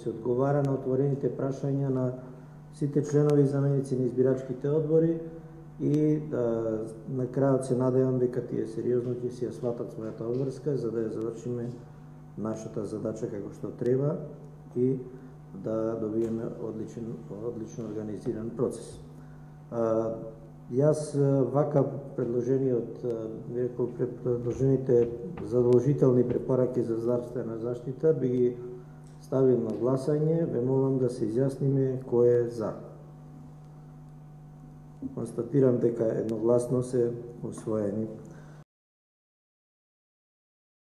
се одговара на отворените прашања на сите членови и заменици на избирачките одбори и на крајот се надевам дека тие сериозно ќе си ја сватат својата обврска за да ја завршиме нашата задача како што треба и да добиеме одлично организиран процес. Јас вака предложените задолжителни препораки за здравствена заштита би ги ставил на гласање, ве молам да се изјасниме кој е за. Констатирам дека едногласно се усвоени.